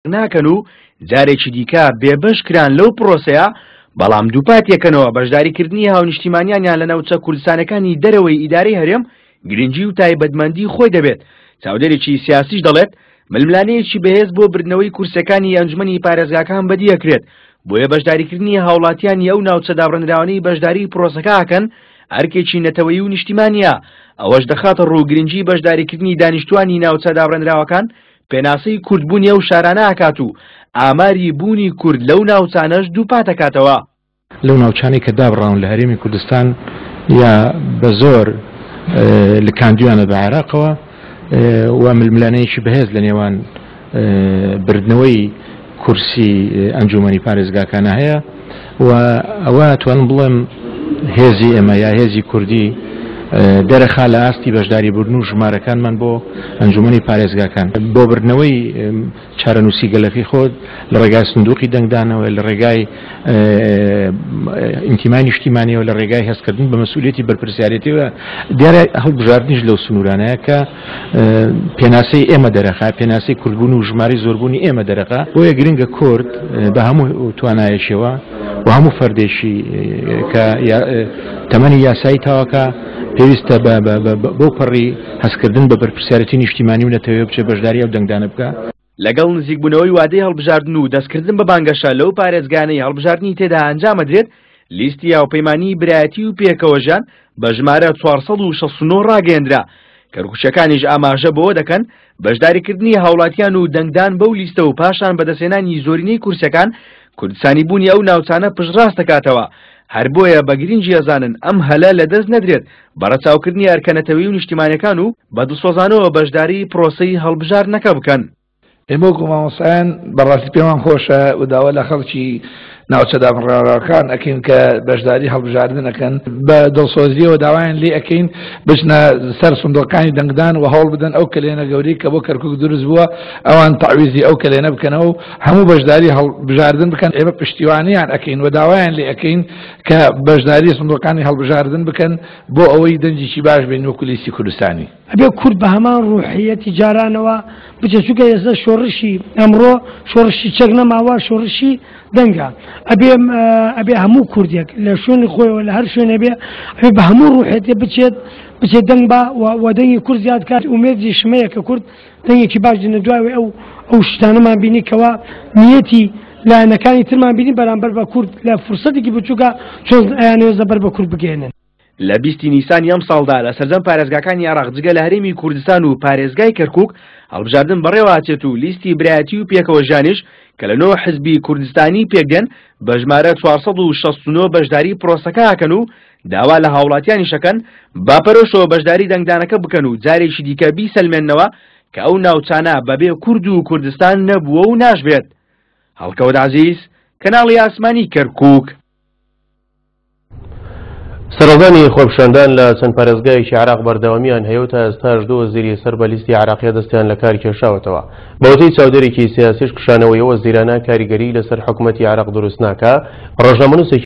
ناکەن و جارێکی دیکە بێبەش کران لەو پرۆسەیە، بەڵام دووپاتیەکەنەوە بەشداریکردنی هاونیشتیمانیانیان لە ناوچە کوردستانەکانی دەرەوەی ئیدارەی هەرێم گرنگی و تایبەتمەندی خۆی دەبێت. چاودێرێکی سیاسیش دەڵێت، ململانێیەکی بەهێز بۆ بردنەوەی کورسیەکانی ئەنجومەنی پارێزگاکان بەدیەکرێت، بۆیە بەشداریکردنی هاوڵاتیانی ئەو ناوچە دابڕێنراوانەی بەشداری پرۆسەکە ئەکەن ئەرکێکی نەتەوەیی و نیشتیمانیە، ئەوەش دەخاتە ڕوو گرنگی بەشداریکردنی دانیشتوانی ناوچە دابڕێنراوەکان پێناسەی کوردبوونی ئەو شارانە ئەکات و ئاماری بوونی کورد لەو ناوچانەش دووپاتەکاتەوە. لەو ناوچانەی کە دابڕاون لە هەرێمی کوردستان یا بە زۆر لکاندویانە بە عێراقەوە و ململانێیەکی بەهێز لە نێوان بردنەوەی کورسی ئەنجومەنی پارێزگاکانە هەیە و ئەوە توانم بڵێم هێزی ئێمە یا هێزی کوردی دەرەخا لە ئاستی بەشداری بردن و ژمارەکانمان بۆ ئەنجومەنی پارێزگاکان بۆ بردنەوەی چارەنووسی گەلەکەی خۆت لە ڕێگای سندوقی دەنگدانەوە، لە ڕێگای ئینتیمای نیشتیمانیەوە، لە ڕێگای هەستکردن بە مەسئولیەتی بەرپرسیارێتیەوە، دیارە هەڵبژاردنیش لەو سنوورانەیە کە پێناسەی ئێمە دەرەخا، پێناسەی کوردبوون و ژمارەی زۆربوونی ئێمە دەرەخا. بۆیە گرنگە کورد بە هەموو توانایەکیەوە و هەموو فەردێکی کە تەمەنی یاسایی تاوەکە پێویستە بەو پەڕی هەستکردن بە بەرپرسیارێتی نیشتیمانی و نەتەوەیەوە بچێت بەشداری ئەو دەنگدانە بکا. لەگەڵ نزیکبوونەوەی وادەی هەڵبژاردن و دەستکردن بە بانگەشە لەو پارێزگانەی هەڵبژاردنی تێدا ئەنجامەدرێت، لیستی هاوپەیمانیی برایەتی و پێکەوەژیان بە ژمارە 469 ڕاگەیەندرا، کەرکوکییەکانیش ئاماژە بەوە دەکەن، بەشداریکردنی هاوڵاتیان و دەنگدان بەو لیستە و پاشان بەدەستهێنانی زۆرینەی کورسیەکان کوردستانیبوونی ئەو ناوچانە پشتڕاست دەکاتەوە، هەر بۆیە بە گرنگی ئەزانن ئەم هەلە لەدەست نەدرێت بە ڕەچاوکردنی ئەرکە نەتەوەیی و نیشتیمانیەکان و بە دڵسۆزانەوە بەشداری پرۆسەی هەڵبژاردنەکە بکەن. ئێمە وەکو مامۆستایان بەڕاستی پێمان خۆشە و داوا لە خەڵکی ناوچە دابڕاوەکان ئەکەین کە بەشداری هەڵبژاردن ئەکەن، بە دڵسۆزیەوە داوایان لێ ئەکەین بچنە سەر سندوقەکانی دەنگدان و هەوڵ بدەن ئەو کەلێنە گەورەی کە بۆ کەرکوک دروست بووە ئەوان تەعویزی ئەو کەلێنە بکەنەوە و هەموو بەشداری هەڵبژاردن بکەن. ئێمە پشتیوانیان ئەکەین و داوایان لێ ئەکەین کە بەشداری سندوقەکانی هەڵبژاردن بکەن بۆ ئەوەی دەنگێکی باش بێن وەکو لیستی کوردستانی. ئەبێ کورد بە هەمان ڕوحیەتی جارانەوە بچێت چونکە ئێستا شۆڕشی ئەمڕۆ شۆڕشی چەک نەماوە شۆڕشی دەنگە ئەبێ ئەبێ هەموو کوردێک لە شوێنی خۆیەوە لە هەر شوێنێ بێ ئەبێ بە هەموو ڕوحێتێ بچێت بچێت دەنگ بە و دەنگی کورد زیاد کات ئومێدی شمەیە کە کورد دەنگێکی باش دێنە دوای ئەو ئەو شتانەمان بینی کەوا نیەتی لایەنەکانی ترمان بینی بەرامبەر بە کورد لە فرسەتێکی بچووکە چۆن ئەیانەوێت زەبەر بە کورد بگەێنن. لە 20 نیسانی ئەمساڵدا لە سەرجەم پارێزگاکانی عێراق جگە لە هەرێمی کوردستان و پارێزگای کەرکوک هەڵبژاردن بەڕێوەئەچێت و لیستی برایەتی و پێکەوەژیانیش کە لە نۆ حزبی کوردستانی پێکدێن بە ژمارە 469 بەشداری پرۆسەکە ئەکەن و داوا لە هاوڵاتیانیش ئەکەن بە پەرۆشەوە بەشداری دەنگدانەکە بکەن و جارێکی دیکە بیسەلمێننەوە کە ئەو ناوچانە بەبێ کورد و کوردستان نەبووە و ناشبێت. هەڵکەوت عەزیز، کەناڵی ئاسمانی کەرکوک. سەرهەڵدانی خۆپیشاندان لە چەند پارێزگایەکی عێراق بەردەوامیان هەیە و تا ئێستاش دوو وەزیری سەر بە لیستی عێراقیە دەستیان لە کار کێشاوەتەوە. بەوتەی چاودێرێکی سیاسیش کشانەوەی ئەو وەزیرانە کاریگەری لەسەر حکومەتی عێراق دروست ناکا. ڕۆژنامەنووسێکی.